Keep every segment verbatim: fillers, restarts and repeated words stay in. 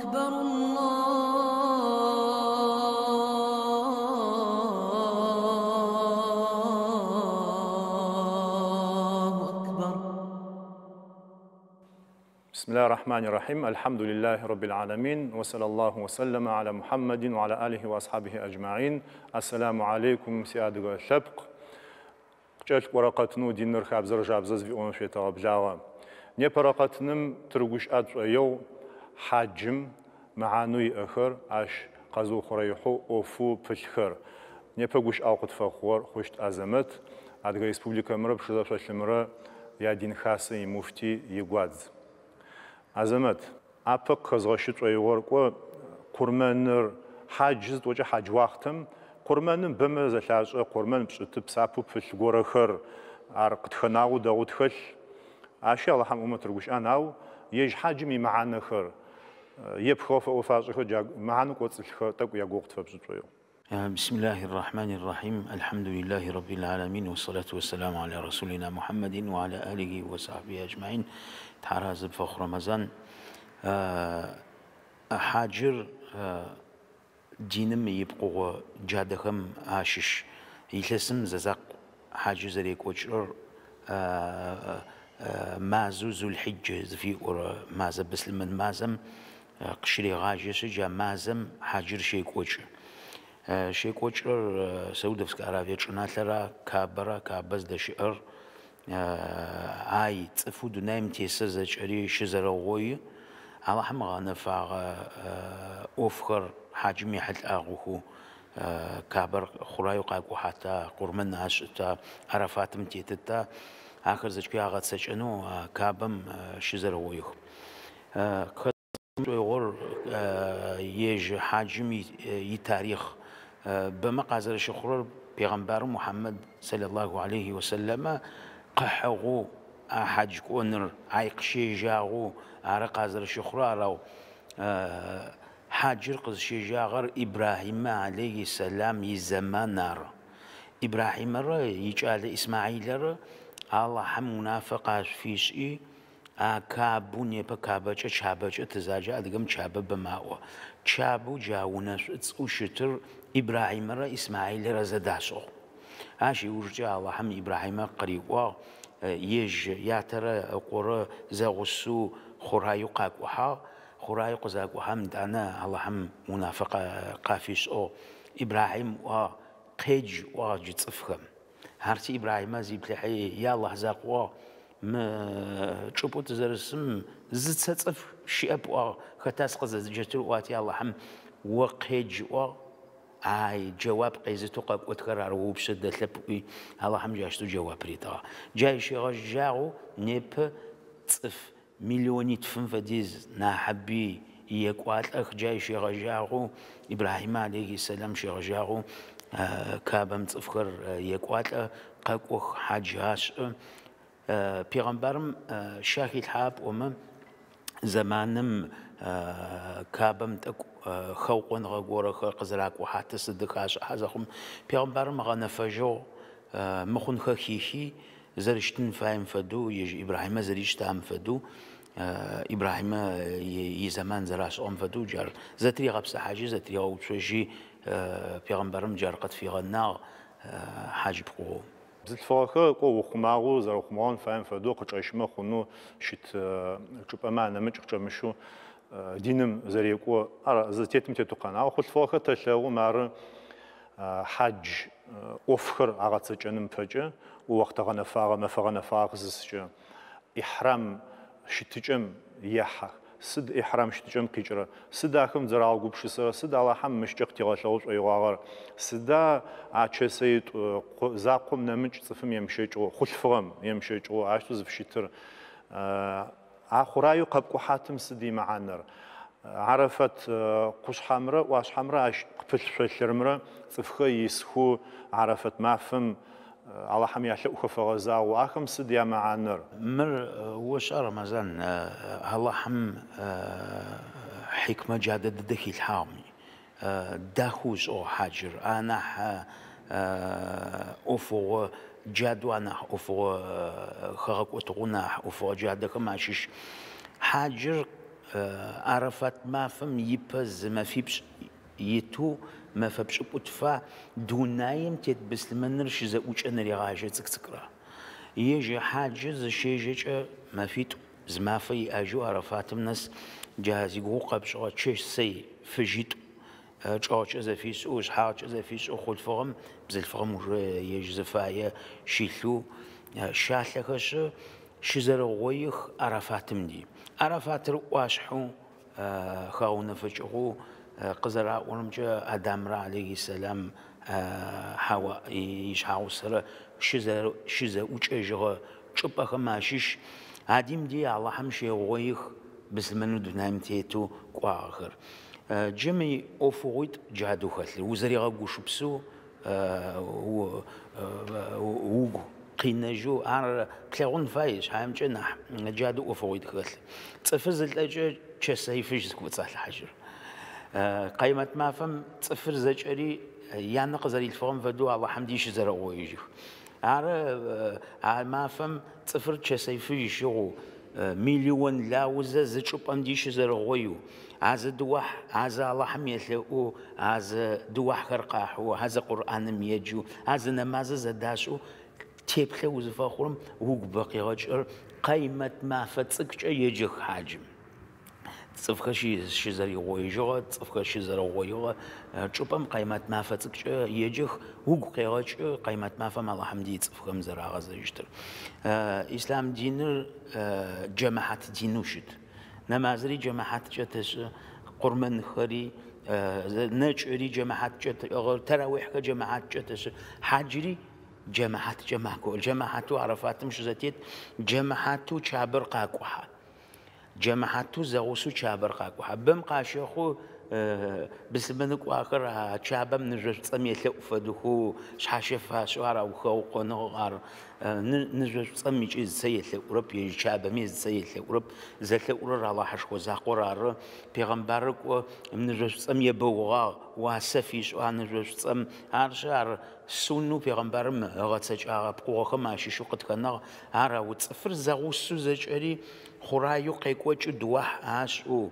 أكبر الله أكبر. بسم الله الرحمن الرحيم. الحمد لله رب العالمين، وصلى الله وسلم على محمد وعلى آله وأصحابه أجمعين. السلام عليكم سيادة اللبق. قجلت ورقتنو دينر خابزر جابزز في أون شيطة بلاغة. نبرقتنم ترجوش أدعو حاجم معانوي آخر عش قزو خريحو أوفو بالخر. نبرجوش أوقات فخور خشت أزمت. أدغى ريسبوبليكا مرة بشذا شلمرة يا دين خاصة مفتي يقعد. Азамат, апэ къыхэзгъэщы шӏоигъор кӏо къурмэныр хьадж зытӏокӏэ хьадж уахътэм къурмэным бэмэ зэлъашӏэ къурмэн пшӏыты псапэу пылъ горэхэр ар къытхэнагъэу дэгъоу тхэлъ. Ащи Алахьым ӏумэ тырыгущыӏэн, ау ежь хьаджым имэхьанэхэр епхыгъэ фэӏофашӏэхэр джа мэхьанэу кӏоцӏылъхэр тӏэкӏу ягугъу къытфэпшӏы шӏоигъу. بسم الله الرحمن الرحيم. الحمد لله رب العالمين، والصلاة والسلام على رسولنا محمد وعلى آله وصحبه أجمعين. تحراز بفخر رمضان. حاجر دينم يبقوا جادهم عاشش يلسم ززق حاجر زريك وشر مازو ذو الحجة في مازم بسلمن مازم قشري غاجش جا مازم حاجر شيك وشر شيكوچر سعودовская Аравия чӏыналъэра Кабэра Кабэ зыдэщыӏэр ай цӏыфэу дунаим тесыр зэкӏэри щызэрэгъои Алахьым гъэнэфагъэ ӏофхэр хьаджым ехьылӏагъэхэу Кабэр хъураеу къакӏухьата, къурмэн ашӏыта, Арафатым тетыта, ахэр зэкӏэ агъэцэкӏэнэу Кабэм щызэрэгъоих. Шӏоигъор ежь хьаджым итарихъ бэмэ къазэрэщыхъурэр пегъэмбару Мухьаммад саллаллаху алейхи васаллама къыхьыгъэу а хьадж кӏоныр ай къыщежьагъэу ары къазэрэщыхъурэр арау хьаджыр къызщежьагъэр Ибрахьимэ алейхи сэлам изэман ары. Ибрахьимэрэ икӏалэ Исмаилэрэ Алахьым унафэ къашъуфишӏи а Кабу непэ Кабэкӏэ Чабэкӏэ тызаджэ адыгэм Чабэ бэмаӏо. Чабэу джа унэшӏуцӏэу щытыр Ибрахьимэрэ Исмаилэрэ зэдашӏыгъ. Ащ ыужкӏэ Алахьым Ибрахьимэ къыриӏуагъ ежь ятэрэ ыкъорэ зэгъусэу хъураеу къакӏухьагъ. Хъураеу къызакӏухьэм итӏанэ Алахьым унафэ къафишӏыгъ. Ибрахьим ыӏуагъ къедж ыӏуагъ джы цӏыфхэм. Арти Ибрахьимэ зиплъыхьи я Алахь закъуагъ мы чӏыпӏэу тызэрысым зыцэ цӏыф щыӏэп ыӏуагъ. Хэта сыкъызэзыджэтыр ыӏуати Алахьым о къедж ыӏуагъ. Ай джэуап къезытэу къэкӏотхэр ар упшъэ дэлъэп ыӏуи Алахьым джащтэу джэуап ритыгъ. Джа ищегъэжьагъэу непэ цӏыф миллионитфым фэдиз нахьыби екӏуалӏэх. Джа ищегъэжьагъэу Ибрахьимэ алейхи сэлам щегъэжьагъэу Кабэм цӏыфхэр екӏуалӏэ къэкӏох хьадж ашӏы. Пегъэмбарым щахилъхьа пӏомэ зэманым Кабэм тӏэкӏу хэукъоныгъэ горэхэр къызэракӏухьаты сыдых ашӏыхьэ зэхъум пегъэмбарым гъэнэфэжьыгъ мыхъунхэ хихи зэрыщтын фаем фэдэу ежь Ибрахьимэ зэрищтам фэдэу Ибрахьимэ изэман зэрашӏыгъэм фэдэу джар зэтригъэпсыхьажьи зэтригъэуцожьи пегъэмбарым джар къытфигъэнагъ хьадж пкъыгъоу. Бзылъфыгъэхэр кӏо ухъумагъэу зэрэухъумагъэн фаем фэдэу къычӏэщымэ хъунэу щыт чӏыпӏэмэ анэмыкӏ къычӏэмыщэу диным зэрекӏо ар зытетым тетэу къэнагъ. Хъулъфыгъэхэр тэлъэгъум ары хьадж ӏофхэр агъэцэкӏэным пэкӏэ охътэ гъэнэфагъэ, мэфэ гъэнэфагъэ къызысыкӏэ ихьрам щытыкӏэм ехьэх. Сыд ихьрам щытыкӏэм къикӏырэ? Сыд ахэм зэрагъэгупшысэрэ? Сыд Алахьым мыщкӏэ къытигъэлъэгъу шӏоигъуагъэр? Сыда а чэсэитӏу закъом нэмыкӏ цӏыфым емыщэкӏыгъэу, хъулъфыгъэм емыщэкӏыгъэу ащтэу зыфыщытыр? А хъураеу къэпкӏухьатым сыд имэхьанэр? Арафат къушъхьэмрэ ӏуашъхьэмрэ ащ къыпылъ шъолъырымрэ цӏыфхэр исхэу Арафат мафэм Алахьым ялъэӏухэ фэгъэзагъэу ахэм сыд ямэхьанэр? Мыр ошӏа Рамазан, Алахьым хьикмэ джадэ дыдэ хилъхьагъми дахэу ышӏыгъ хьаджыр. Анахь ӏофыгъо джадэу анахь ӏофыгъо хэгъэкӏотыгъэу нахь ӏофыгъо джадэхэм ащыщ. Хьаджыр Арафат мафэм ипэ зы мэфипшӏ итэу мэфэ пшӏыкӏутфа дунаим тет быслъымэныр щызэӏукӏэн регъажьэ цӏыкӏ-цӏыкӏрэ. Ежь хьаджыр зыщежьэкӏэ мэфитӏу зы мафэ иӏэжьэу Арафатым нэс джа зигугъу къэпшӏыгъэ чэщ-сэй фыжьитӏу чӏэгъкӏэ зэфишӏэу, шъхьагъкӏэ зэфишӏэу хъулъфыгъэм бзылъфыгъэм уже ежь зыфае щилъэу щалъэхэшъы щызэрэгъоих Арафатым ди. Арафатыр ӏуашъхьэу хэгъэунэфыкӏыгъэу къызэраӏорэмкӏэ Адамрэ алейхи сэлам Хьауа ишъхьэгъусэрэ щызэӏукӏэжьыгъэ чӏыпӏэхэм ащыщ Адим ди Аллахьым щегъоих быслъымэнэу дунаим тетэу кӏуагъэхэр. Джы мы ӏофыгъуитӏу джадэу хэлъыр. Узэригъэгушыпсэу угу къинэжьэу ар плъэгъун фай шъхьаемкӏэ нахь джадэу ӏофыгъуитӏу хэлъ. Цӏыфыр зылӏэкӏэ чэсэй фыжь зыкӏоцӏалъхьажьыр. Къаймэт мафэм цӏыфыр зэкӏэри янэ къызэрилъфыгъэм фэдэу Аллахьым ди щызэрэгъоижьых. Ары а мафэм цӏыфыр чэсэй фыжь щыгъэу миллион лаузэ зы чӏыпӏэм ди щызэрэгъоеу, а зы дыуахь, а зы Аллахьым елъэӏоу, а зы дыуахьхэр къахьэу, а зы Къурӏаным еджэу, а зы нэмазэ зэдашӏэу теплъэ узыфэхъурэм угу бэ къегъэкӏыр къаймэт мафэ цӏыкӏукӏэ еджэх хьаджым. Цӏыфхэр щызэригъоижьыгъэ, цӏыфхэр щызэрэгъоигъэ чӏыпӏэм къаймэт мафэ цӏыкӏукӏэ еджэх, угу къегъэкӏы къаймэт мафэм Аллахьым ди цӏыфхэм зэрагъэзэжьыщтыр. Ислъам диныр джэмэхьат динэу щыт. Нэмазыри джэмэхьаткӏэ тэшӏы, къурмэнхэри, нэкӏыри джэмэхьаткӏэ тэӏыгъыр, тэрауихьхэр джэмэхьаткӏэ тэшӏы, хьаджыри джэмэхьаткӏэ макӏо. Джэмэхьатэу Арафатым щызэтет, джэмэхьатэу Чабэр къакӏухьэ. Джэмэхьатэу зэгъусэу Чабэр къакӏухьэ. Бэм къащэхъу быслъымэны кӏуахэр а Чабэм ныбжьэ шӏуцӏэм елъэӏу фэдэхэу шъхьащэ фашӏэу ар аухэукъоныгъ, ар ныбжьэ шӏуцӏэм икӏи зыцэ елъэӏурэп, ежь Чабэми зыцэ елъэӏурэп. Зэлъэӏурэр Аллахьышхо закъор ары. Пегъэмбарыр кӏо ныбжьэ шӏуцӏэм ебэугъагъ, уасэ фишӏэу а ныбжьэ шӏуцӏэм. Арышъ, ар сунэу пегъэмбарым ыгъэцэкӏагъэ пкъыгъохэм ащыщэу къытхэнагъ. Ар ау цӏыфыр зэгъусэу зэкӏэри хъураеу къекӏокӏы дыуахь ашӏэу,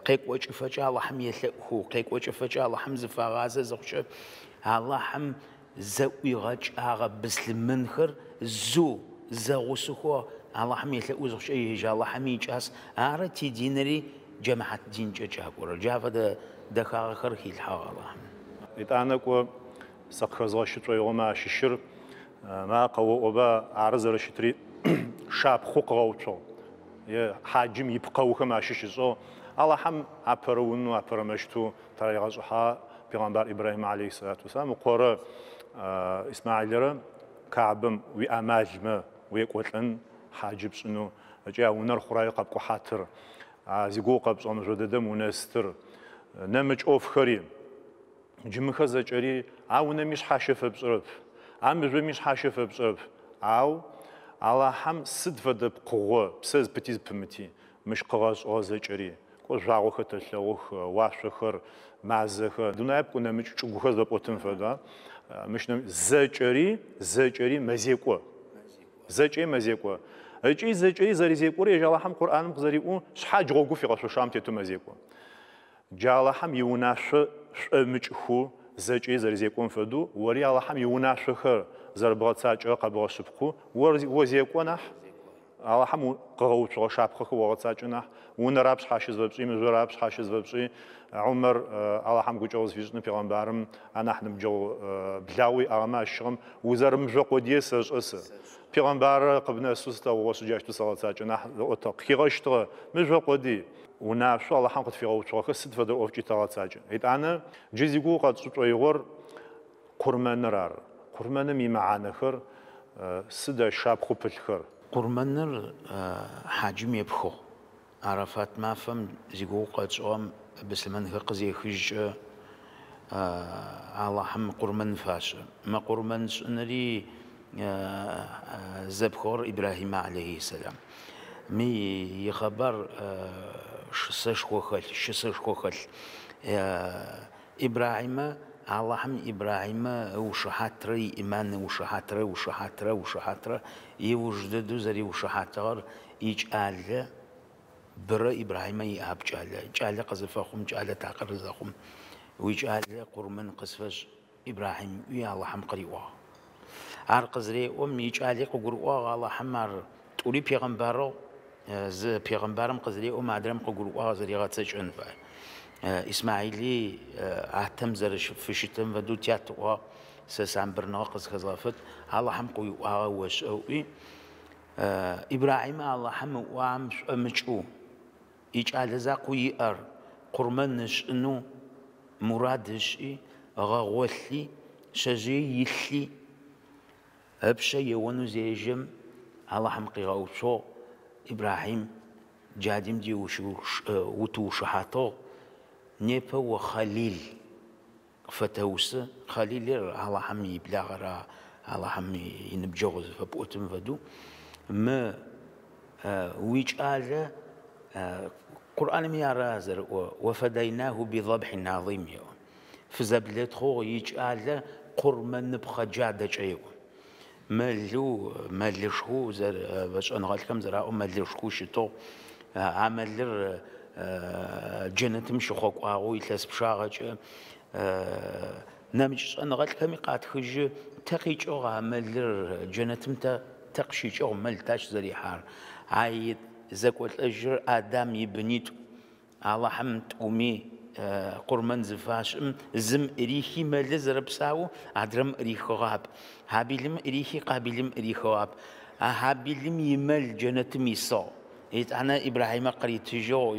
къекӏокӏыфэкӏэ Аллахьым елъэӏухэу, къекӏокӏыфэкӏэ Аллахьым зыфагъазэ зыхъукӏэ Аллахьым зэӏуигъэкӏагъэ быслъымэнхэр зэу зэгъусэхэу Аллахьым елъэӏу зыхъукӏэ ежь Аллахьым икӏас. Ары тидиныри джэмэхьат динкӏэ кӏакӏорэр. Джа фэдэ дэхагъэхэр хилъхьагъ Аллахьым. Итӏанэ кӏо сэ къыхэзгъэщы шӏоигъомэ ащыщыр ма къэоӏоба ары зэрэщытри шапхъэу къыгъэуцугъ. Е хьаджым ипкъэухэм ащыщ ышӏыгъ. Аллахьым апэрэ унэу, апэрэ мэщтэу таригъэшӏыхьагъ пегъэмбар Ибрахьим алейхи салату вассалам ыкъорэ Исмаилэрэ Каабэм уиӏамалмэ уекӏолӏэн хьаджы пшӏынэу ыкӏи а унэр хъураеу къэпкӏухьатыр, а зигугъу къэпшӏыгъэ мыжъо дэдэм унэстыр, нэмыкӏ ӏофхэри. Джы мыхэр зэкӏэри а унэми шъхьащэ фэпшӏырэп, а мыжъоми шъхьащэ фэпшӏырэп. Ау Аллахьым сыд фэдэ пкъыгъо, псэ зыпыти зыпымыти, мыщ къыгъэшӏыгъэ зэкӏэри, кӏо жъуагъохэр тэлъэгъух, уашъохэр, мазэхэр, дунаеп кӏо нэмыкӏ чӏыгухэр зэпӏотын фэда, мыщ нэмыкӏ зэкӏэри, зэкӏэри мэзекӏо. Зэкӏэри мэзекӏо. Ыкӏи зэкӏэри зэризекӏорэ ежь Аллахьым Къурӏаным къызэриӏоу шъхьадж гъогу фигъэшъошагъэм тетэу мэзекӏо. Джа Аллахьым иунашъо шӏомыкӏхэу зэкӏэри зэризекӏом фэдэу, ори Аллахьым иунашъохэр зэрэбгъэцакӏэ къэбгъэшъыпкъэу, ор зекӏо нахь, Аллахьым къыгъэуцугъэ шапхъэхэр огъэцакӏэ нахь, унэрап шъхьащэ зыфэпшӏи, мыжъорап шъхьащэ зыфэпшӏи, Умар Аллахьым гукӏэгъу зыфишӏыны пегъэмбарым анахь ныбджэгъу благъэу иӏагъэмэ ащыщыгъэм узэрымыжъо къодые сэшӏэ сэ. Пегъэмбарыр къыбнэсэу сылъэгъугъэшъ джащтэу сэгъэцакӏэ нахь ыӏотыгъ. Къыхигъэщтыгъэ мыжъо къодый. Унашъо Аллахьым къытфигъэуцугъэхэр сыд фэдэ ӏофкӏи тэгъэцакӏэ. Итӏанэ джы зигугъу къэтшӏы шӏоигъор къурмэныр ары. Къурмэным имэхьанэхэр сыд ащ шапхъэу пылъхэр? Къурмэныр хьаджым епхыгъ. Арафат мафэм зигугъу къэтшӏыгъэм быслъымэнхэр къызехыжькӏэ Аллахьым къурмэн фашӏы. Мы къурмэн шӏыныри зэпхыгъэр Ибрахьимэ алейхи сэлам. Мы ихъэбар шысэшхо хэлъ, щысэшхо хэлъ. Ибрахьимэ Аллахьым Ибрахьимэ ыушыхьатрэ иӏиман ыушыхьатрэ ыушыхьатрэ ыушыхьатрэ иуж дэдэу зэриушыхьатыгъэр икӏалэ Бэрэ Ибрахьимэ иӏап кӏалэ. Кӏалэ къызыфэхъум, кӏалэ такъыр зэхъум. Уикӏалэ къурмэн къысфэшӏ Ибрахьим ыӏуи Алахьым къыриӏуагъ. Ар къызреӏом икӏали къыгурыӏуагъ Алахьым ар тӏури пегъэмбарыгъ. Зы пегъэмбарым къызреӏом адрэм къыгурыӏуагъ зэригъэцэкӏэн фай. Исмаили атэм зэрэфыщытым фэдэу тят ыӏуагъ. Сэ самбырныгъэ къызхэзгъэфэт Алахьым къыуиӏуагъэ ошӏэ ыӏуи. Ибрахьимэ Алахьым ыӏуагъэм шӏомыкӏэу икӏалэ закъоу иӏэр къурмэн ышӏынэу мурад ышӏи, ыгъэгъолъи, шъэжъые илъи, ыпшъэ еонэу зежьэм Алахьым къигъэуцугъ. Ибрахьим джадим ди утыушыхьатыгъ. Непэ о Халил къыфэтэусы. Халилыр Алахьым иблагъэра, Алахьым иныбджэгъу зыфэпӏотым фэдэу. Мы уикӏалэ Къурӏаным ара зэрыӏо «Уафадайнаху бидабхин азим» еӏо. Фызэблэтхъугъ икӏалэ къурмэныпхъэ джадэкӏэ еӏо. Мэлу, мэлышху, шӏэныгъэлӏхэм зэраӏо мэлышху щытыгъ. А мэлыр джэнэтым щыхъокӏуагъэу илъэс пчъагъэкӏэ нэмыкӏ шӏэныгъэлӏхэми къатхыжьы тэ къикӏыгъ а мэлыр джэнэтым тэ тэ къыщикӏыгъ мэл тащ зэрихьар. Ай зэкӏолӏэжьыр Адам ибынитӏу. Алахьым тӏуми къурмэн зыфашӏым зым ӏырихи мэлы зэрэпсау, адрэм ӏырихыгъап. Хьабилым ӏырихи Къабилым ӏырихыгъап. А Хьабилым имэл джэнэтым исыгъ. Итӏанэ Ибрахьимэ къыритыжьыгъ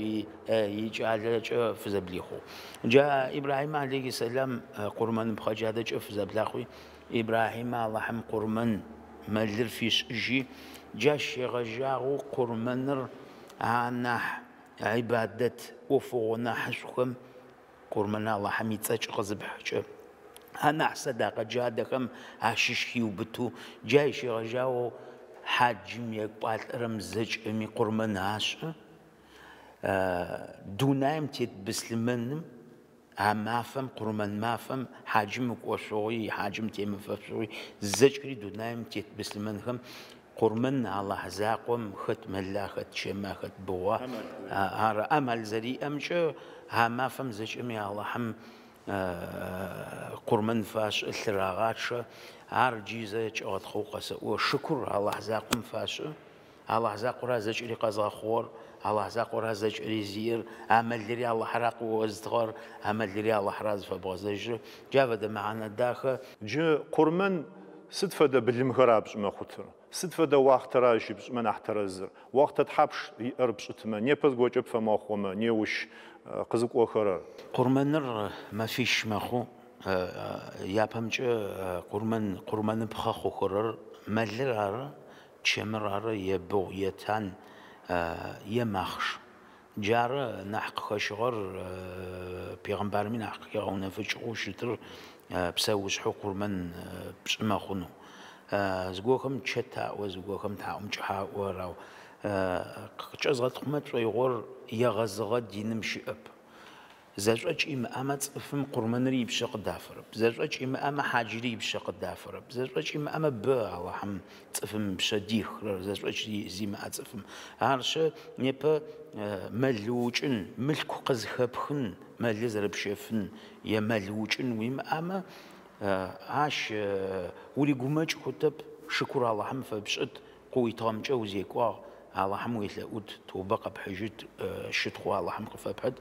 икӏалэкӏэ фызэблихъугъ. Джа Ибрахьимэ алейхи сэлам къурмэныпхъэ джадэкӏэ фызэблахъуи Ибрахьимэ Алахьым къурмэн мэлыр фишӏыжьи джащ щегъэжьагъэу къурмэныр анахь ибадэт ӏофыгъо нахьышӏухэм къурмэн Алахьым ицӏэкӏ къызыпхькӏэ. Анахь сэдакъэ джадэхэм ащыщ хиубытэу джай щегъэжьагъэу хьаджым екӏуалӏэрэм зэкӏэми къурмэн ашӏы. Дунаим тет быслъымэным а мафэм, къурмэн мафэм хьаджым ыкӏошъугъи, хьаджым темыфэшъугъи зэкӏэри дунаим тет быслъымэнхэм къурмэн Алахь закъом хэт мэла, хэт чэма, хэт быгъуа. Ар амал зэриӏэмкӏэ а мафэм зэкӏэми Алахьым къурмэн фашӏы, лъырагъачъэ. Ар джы зэкӏэгъэтхъэу къэсэӏо. Шыкур Алахь закъом фашӏы. Алахь закъора зэкӏэри къэзгъэхъугъэр, Алахь закъора зэкӏэри зиер, амалри Алахьра къыозытыгъэр, амалри Алахьра зыфэбгъэзэжьыр. Джа фэдэ мэхьанэ дахэ. Джы къурмэн сыд фэдэ былымхэр апшӏымэ хъутыр? Сыд фэдэ уахътэра щыпшӏымэ нахь тэрэзыр? Уахътэ тхьапш иӏэр пшӏытымэ, непэ зыгокӏэ пфэмыхъумэ, неущ къызыкӏохэрэр? Къурмэныр мэфищ мэхъу. Япэмкӏэ къурмэн къурмэныпхъэ хъухэрэр мэлыр ары, чэмыр ары, е быгъу, е тан, е махъш. Джары нахь къыхэщыгъэр пегъэмбарми нахь къыхегъэунэфыкӏыгъэу щытыр псэушъхьэу къурмэн пшӏымэ хъунэу. Зыгохэм чэт аӏо, зыгохэм тхьаӏумкӏыхьэ аӏо, ау къыкӏэзгъэтхъумэ шӏоигъор егъэзыгъэ диным щыӏэп. Зэшӏокӏ имыӏэмэ цӏыфым къурмэныр ипшъэ къыдафэрэп. Зэшӏокӏ имыӏэмэ хьаджыри ипшъэ къыдафэрэп. Зэшӏокӏ имыӏэмэ бэ Алахьым цӏыфым ыпшъэ дихырэр, зэшӏокӏ зимыӏэ цӏыфым. Арышъ, непэ мэл укӏын, мылъку къызхэпхын, мэлы зэрэпщэфын е мэл укӏын уимыӏэмэ, ащ уригумэкӏ хутэп, шыкур Алахьым фэпшӏыт, къыуитыгъэмкӏэ узекӏуагъ, Алахьым уелъэӏут, тобэ къэпхьыжьыт, щытхъу Алахьым къыфэпхьыт.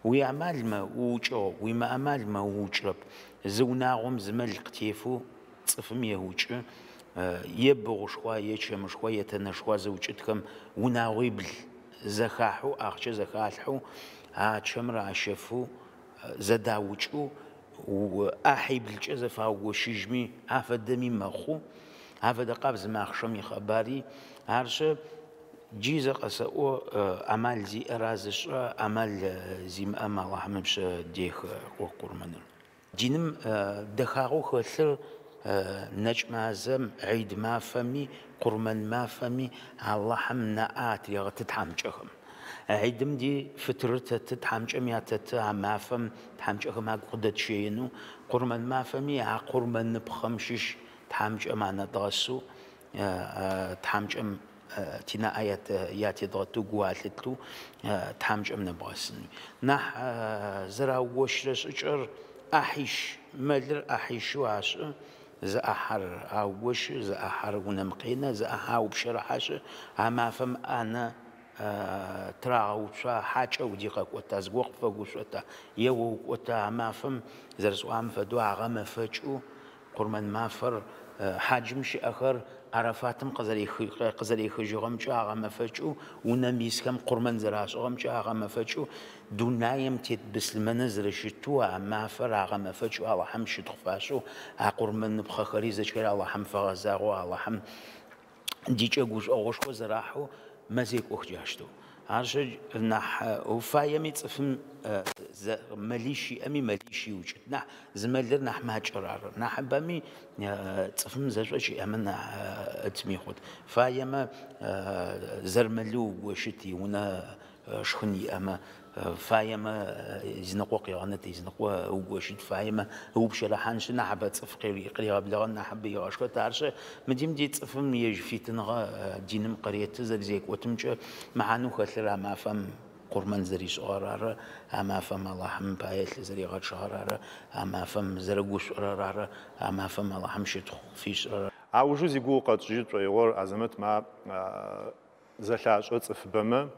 Уиамалмэ уукӏыгъ, уимыамалмэ уукӏырэп. Зы унагъом зы мэл къытефэу цӏыфым еукӏы, е быгъушхуа, е чэмышхуа, е тэнэшхуа зыукӏытхэм унагъуибл зэхахьэу, ахъчэ зэхалъхьэу, а чэмыр ащэфэу, зэдаукӏэу, ӏахьиблкӏэ зэфаугощыжьми, афэдэми мэхъу. Афэдэ къабз махъшэм ихъэбари. Арышъ, джы зэ къэсэӏо амал зиӏэра зышӏэ, амал зимыӏэм Алахьым ыпшъэ дехы къурмэныр. Диным дэхагъэу хэлъыр нэкӏ мазэм, гьид мафэми, къурмэн мафэми Алахьым нэӏэ атрегъэты тхьамыкӏэхэм. Гьидым ди фытырыр тэты, тхьамыкӏэм ятэты а мафэм тхьамыкӏэхэм агу къыдэтщэенэу, къурмэн мафэми а къурмэныпхъэм щыщ тхьамыкӏэм анэдгъэсэу, тхьамыкӏэм Тинаӏэ ятедгъэтэу гу алъытэу тхьамыкӏэм нэбгъэсын. Нахь зэраугощырэ шӏыкӏэр ӏахьищ, мэлыр ӏахьищэу ашӏы, зы ӏахьэр аугощы, зы ӏахьэр унэм къенэ, зы ӏахьэ аупщэрыхьашъы, а мафэм ӏанэ тырагъэуцуа, хьакӏэ уди къэкӏота, зыгорэм къыпфэгушӏота, е о укӏота, а мафэм зэрэсӏуагъэм фэдэу агъэмэфэкӏэу Къурмэн мафэр хьаджым щыӏэхэр Арафатым къызэрехыжьыгъэмкӏэ агъэмэфэкӏэу, унэм исхэм къурмэн зэрашӏыгъэмкӏэ агъэмэфэкӏэу, дунаим тет быслъымэныр зэрэщытэу а мафэр агъэмэфэкӏэу Алахьым щытхъу фашӏэу, а къурмэныпхъэхэри зэкӏэри Алахьым фэгъэзагъэу, Алахьым дикӏэ гушӏогъошхо зэрахьэу мэзекӏох джащтэу. Арышъ, нахь уфаеми цӏыфым мэлищ иӏэми мэлищ иукӏыт. Нахь зы мэлыр нахь макӏэр ары. Нахьыбэми цӏыфым зэшӏокӏ иӏэмэ нахь ытми хъут. Фаемэ зэрмэлэу угощыт иунэ шхын иӏэмэ, фаемэ изыныкъо къегъэнэт, изыныкъо угощыт, фаемэ ыупщэрыхьаншъы нахьыбэ цӏыф къыригъэблэгъэн нахьыбэ игъэшхэт. Арышъ, мыдим ди цӏыфым ежь фитыныгъэ диным къыреты зэрэзекӏотымкӏэ мэхьанэу хэлъыр а мафэм къурмэн зэришӏыгъэр ары, а мафэм Алахьым пае лъы зэригъэчъыгъэр ары, а мафэм зэрэгушӏорэр ары, а мафэм Алахьым щытхъу фишӏырэр. Аужу зигугъу къэтшӏыжьы тшӏоигъор Азэмэт ма зэлъашӏэ цӏыфыбэмэ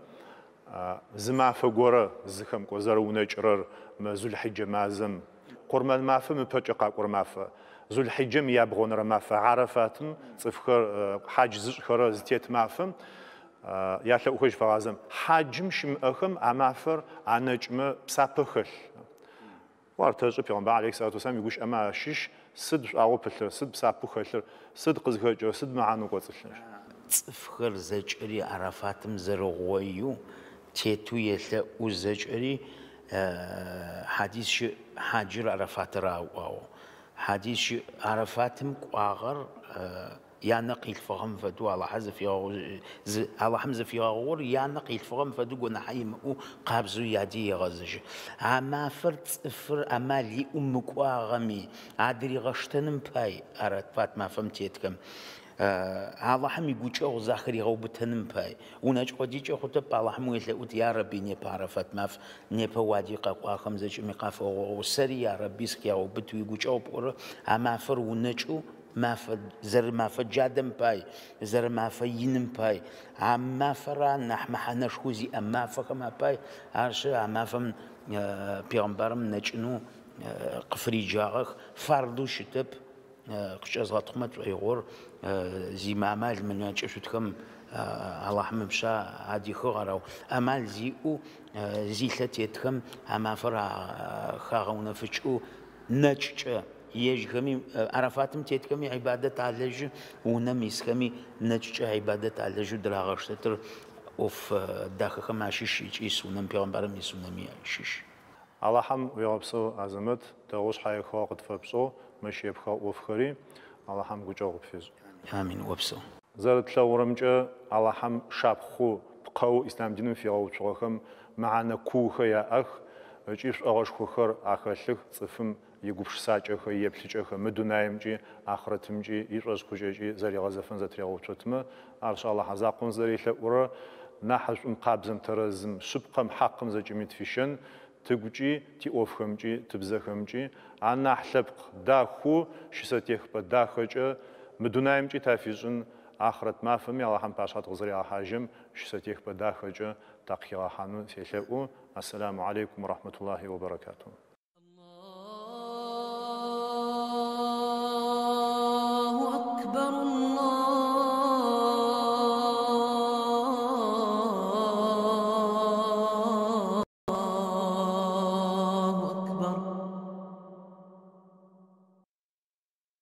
зы мафэ горэ зыхэмкӏо зэрэунэкӏырэр Зулхьиджэ мазэм, къурмэн мафэм ыпэкӏэ къакӏорэ мафэ, Зулхьиджэм ябгъонэрэ мафэ Арафатым цӏыфхэр хьадж зышӏхэрэ зытет мафэм ялъэӏухэжь фэгъазэм хьаджым щымыӏэхэм а мафэр анэкӏмэ псапэ хэлъ. Ар тэшӏы пегъэмбар алейхи салату вассалам игущыӏэмэ ащыщ сыд шӏуагъэу пылъыр, сыд псапэу хэлъыр, сыд къызхэкӏырэр, сыд мэхьанэу кӏоцӏылъыр. Цӏыфхэр зэкӏэри Арафатым зэрэгъоеу тетэу елъэӏу зэкӏэри хьадис щыӏ, хьаджыр Арафатыр аӏуагъэу. Хьадис щыӏ, Арафатым кӏуагъэр янэ къилъфыгъэм фэдэу Алахьэ зыфигъэгъу, Алахьым зыфигъэгъугъэр янэ къилъфыгъэм фэдэу гонахьэ имыӏэу къабзэу яди егъэзыжьы. А мафэр цӏыфыр амал иӏэу мыкӏуагъэми адыригъэштэным пай Арафат мафэм тетхэм. Алахьым игукӏэгъу захыригъэубытэным пай. Унэкӏ къодикӏэ хъутэп Алахьым уелъэӏут, я Рэби, непэ Арафат маф, непэ уади къэкӏуахэм зэкӏэми къафэгъугъэу, сэри я Рэби сыхегъэубыт уигукӏэгъу пӏорэ, а мафэр унэкӏэу мафэ зэрымафэ джадэм пай, зэрымафэ иным пай, а мафэра нахь мэхьанэшхо зиӏэ мафэхэм апай, арышъ а мафэм пегъэмбарым нэкӏынэу къыфыриджагъэх, фарду щытэп, къыкӏэзгъэтхъумэ тшӏоигъор зимыамал мынэкӏышъутхэм Алахьым ыпшъэ адихыгъ арау. Амал зиӏэу зилъэ тетхэм а мафэр хагъэунэфыкӏэу нэкӏкӏэ ежьхэми Арафатым тетхэми ибадэт алэжьы, унэм исхэми нэкӏкӏэ ибадэт алэжьэу дырагъэштэтыр ӏоф дахэхэм ащыщ ыкӏи сунэм пегъэмбарым исунэми ащыщ. Алахьым уегъэпсэу Азэмэт, дэгъоу шъхьаихыгъэ къытфэпшӏэу, мыщ епхыгъэ ӏофхэри Алахьым гукӏэгъу къыпфишӏ. Амин, опсэу. Зэрэтлъэгъурэмкӏэ Алахьым шапхъэу, пкъэу ислъам диным фигъэуцугъэхэм мэхьанэ куухэр яӏэх ыкӏи шӏогъэшхохэр ахэлъых цӏыфым игупшысакӏэхэр, иеплъыкӏэхэр мы дунаимкӏи, ахърэтымкӏи, ишӏошъхъукӏэкӏи зэригъэзэфэн зэтыригъэуцотмэ, арышъ Алахьэ закъом зэрелъэӏурэр нахьышӏум, къабзэм, тэрэзым, шъыпкъэм, хьакъым зэкӏэми тфищэн, тыгукӏи, тиӏофхэмкӏи, тыбзэхэмкӏи, анахь лъэпкъ дахэу, щысэтехыпӏэ дахэкӏэ мы дунаимкӏи тафишӏын, ахърэт мафэми Алахьым пашъхьэ тыкъызэригъэхьажьым щысэтехыпӏэ дахэкӏэ такъыхигъэхьанэу селъэӏу. Ассаламу алейкум рахматуллахи ва баракатуху. Аллаху акбар.